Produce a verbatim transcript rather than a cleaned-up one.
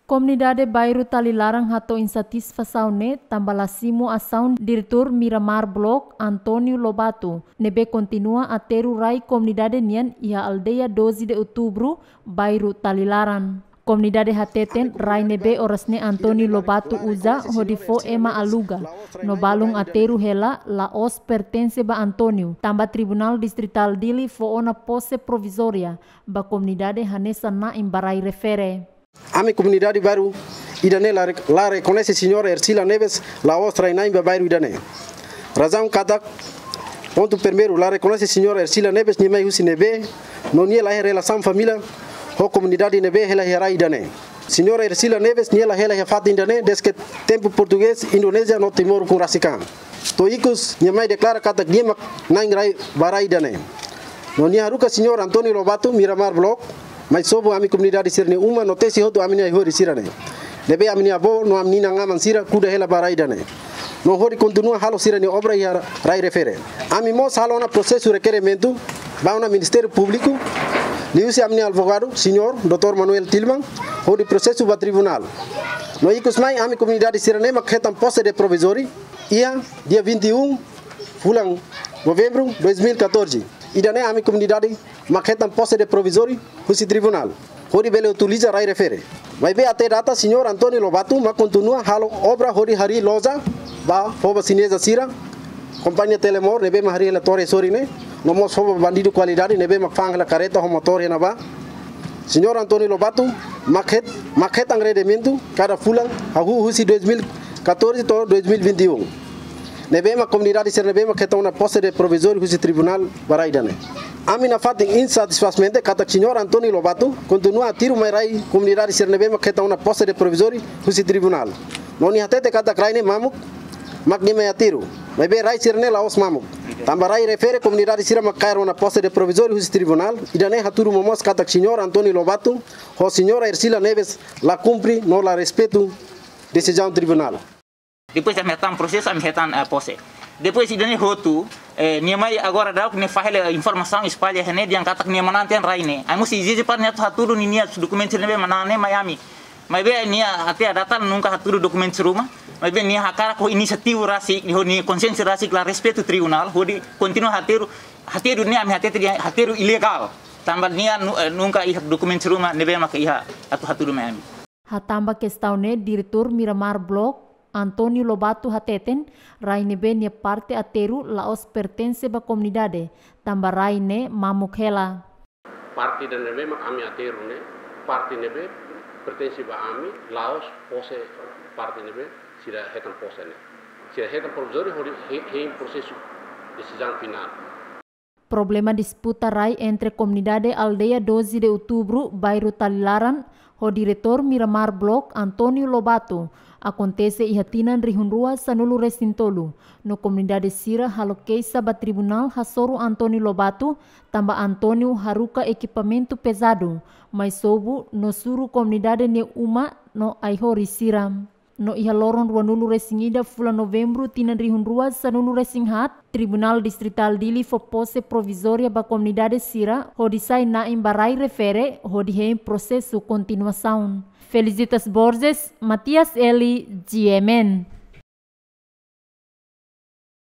Komunidade Bairru Talilaran hato'o insatisfasaun ne'e tanba la simu asaun Diretór Miramar Block, António Lobato, ne'ebé kontinua aterru rai komunidade nian iha aldeia doze de Outubro, Bairru Talilaran. Komunidade hateten rai ne'ebé oras ne'e António Lobato uza hodi fó ema aluga, no balun aterru hela, la'ós pertense ba António, tanba Tribunál Distritál Dili fó ona pose provizória ba komunidade hanesan na'in ba rai refere. Ami komunidade bairru ida-ne'e la re-, la rekoñese señora Ercila Neves la'ós rai-na'in ba bairru ida-ne'e. Razaun katak, pontu primeiru, la rekoñese señora Ercila Neves, nia mai husi ne'ebé, no nia la iha relasaun família ho komunidade ne'ebé hela iha rai ida-ne'e. Señora Ercila Neves, nia la hela iha fatin ida-ne'e dezde tempu portugés, Indonézia no Timor ukun rasik an. To'o ikus, nia mai deklara katak nia mak na'in rai ba rai ida-ne'e. No nia haruka señór António Lobato, Miramar Block, mai sobu ami komunidade sira-nia uma, no tesi hotu ami-nia ai-horis sira-ne'e, ne'ebé ami-nia avó no ami-nia inan-aman sira kuda hela ba rai ida-ne'e, no hodi kontinua halo sira-nia obra iha rai refere. Ami mós halo ona prosesu rekerimentu ba ona Ministériu Públiku, liuhusi ami-nia advogadu, señór doutór Manuel Tilman, hodi prosesu ba tribunál. No ikus mai ami komunidade sira-ne'e mak hetan pose de provizóriu iha dia vinte e um fulan Novembru dois mil e catorze. Ida-ne'e ami komunidade mak hetan pose de provizóriu husi tribunál, hodi bele utiliza rai refere. Maibé até data señór António Lobato mak kontinua halo obra hodi harii loja ba fó ba xineza sira, kompañia Telemor ne'ebé mak harii hela torre sorin ne'e, no mós fó ba bandidu kualidade ne'ebé mak fa'an hela karreta ho motór iha ne'ebá. Señór António Lobato mak het-, mak hetan rendimentu kada fulan, hahú husi dois mil e catorze to'o dois mil e vinte e um. Ne'ebé mak komunidade sira ne'ebé mak hetan ona pose de provizóriu husi tribunál ba rai ida-ne'e. Ami nafatin insatisfás mente katak señór António Lobato kontinua aterru mai rai komunidade sira ne'ebé mak hetan ona pose de provizóriu husi tribunál. No nia hatete katak rai ne'e mamuk mak nia mai aterru. Maibé rai sira-ne'e la'ós mamuk. Tanba rai refere komunidade sira mak kaer ona pose de provizóriu husi tribunál. Ida-ne'e hatudu momoos katak señór António Lobato ho señora Ercila Neves la kumpre no la respeitu desizaun tribunál. Depois ami hetan prosesu, ami hetan, eh, pose. Depois ida-ne'e hotu, eh, nia mai agora daudauk nia fahe hela informasaun espalla iha ne'e dehan katak nia manán tiha ona rai ne'e. Ami mós ezije para nia atu hatudu ninia dokumentu ne'ebé manán ne'e mai ami. Maibé nia até data nunka hatudu dokumentu ruma. Maibé nia hakarak ho inisiativa rasik, ho nia konsiénsia rasik la respeitu tribunál, hodi kontinua aterru, aterru ne'e ami hatete dehan aterru ilegál. Tanba nia nu-, eh, nunka iha dokumentu ruma ne'ebé mak iha atu hatudu mai ami. Hatán ba kestaun ne'e Diretór Miramar Block, António Lobato hateten, rai ne'ebé nia parte aterru la'ós pertense ba komunidade, tanba rai ne'e mamuk hela. Parte ida ne'ebé mak ami aterru ne'e, parte ne'ebé pertense ba ami, la'ós pose parte ne'ebé sira hetan pose ne'e. Sira hetan provizóriu hodi he-, hein prosesu desizaun finál. Problema disputa rai entre komunidade aldeia doze de Outubro, bairru Talilaran, ho Diretór Miramar Block, António Lobato, akontese iha tinan rihun rua sanulu resin tolu. No komunidade sira halo keixa ba tribunál hasoru António Lobato, tanba António haruka ekipamentu pezadu, mai sobu no suru komunidade nia uma no ai-horis sira. No iha loron ruanulu resin ida fulan Novembru tinan rihun rua sanulu resin haat, Tribunál Distritál Dili fó pose provizória ba komunidade sira, hodi sai na'in ba rai refere, hodi hein prosesu kontinuasaun. Felicitas Borges, Matias Eli, G M N.